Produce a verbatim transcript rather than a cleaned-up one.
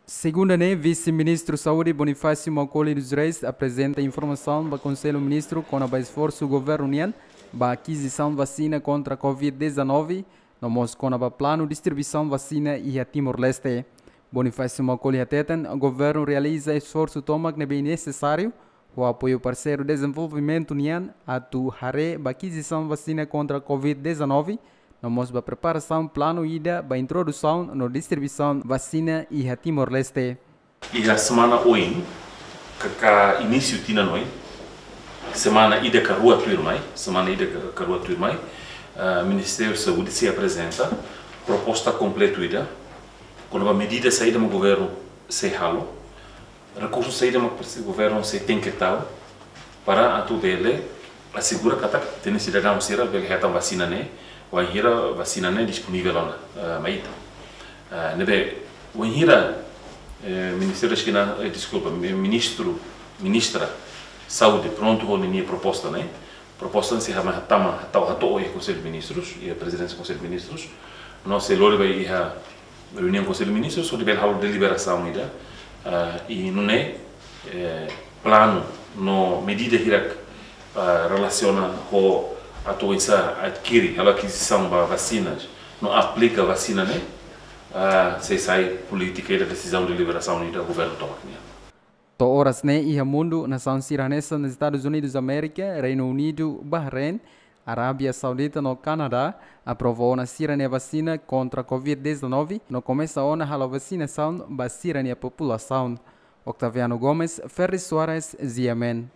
Segunda ne'e, Vise-Ministru Saúde Bonifácio Maukoli dos Reis aprezenta informasaun ba Konsellu Ministru kona-ba esforsu governu nian ba akizisaun vasina kontra covid dezanove, no mós kona-ba planu distribuisaun vasina iha Timor-Leste. Bonifácio Maukoli hateten, governu realiza esforsu tomak ne'ebé nesesáriu ho apoiu parseiru dezenvolvimentu nian atu haree ba akizisaun vasina kontra covid dezanove, no mós ba preparasaun planu ida ba introdusaun no distribuisaun vasina iha Timor-Leste. Iha semana oin, ka, ka inísiu tinan oin, semana ida ka rua tuirmai, semana ida ka, ka rua tuirmai, ah, Ministériu Saúde sei aprezenta proposta kompletu ida, kona-ba medida saida mak governu sei halo, rekursu saida mak presi-, governu sei tenke tau, para atu bele asegura katak ita-nia sidadaun sira bele hetan vasina ne'e, wainhira vasina ne'e disponivel ona, eh, mai ita. Eh, ne'ebé, wainhira, eh, Ministériu Saúde, eh, deskulpa, mi-, Ministru, Ministra Saúde prontu ho ninia proposta ne'e, proposta ne'e sei hama hatama, hatau hato'o iha Konsellu Ministrus, iha Prezidénsia Konsellu Ministrus, no sei lori ba iha reuniaun Konsellu Ministrus, hodi bele halo deliberasaun ida, ah, i nune'e, eh, planu no medida hirak, ah, relasiona ho atu oinsá adkiri, halo akizisaun ba vasinas, no aplika vasina ne'e, ah, sei sai polítika ida, desizaun, deliberasaun ida governu tomak nian. To'o oras ne'e iha mundu, nasaun sira hanesan Estadus Unidus Amérika, Reinu Unidu, Bahrein, Arábia Saudita no Kanadá aprova ona sira-nia vasina kontra covid dezanove, no komesa ona halo vasinasaun ba sira-nia populasaun. Octaviano Gomes, Ferri Soares, G M N.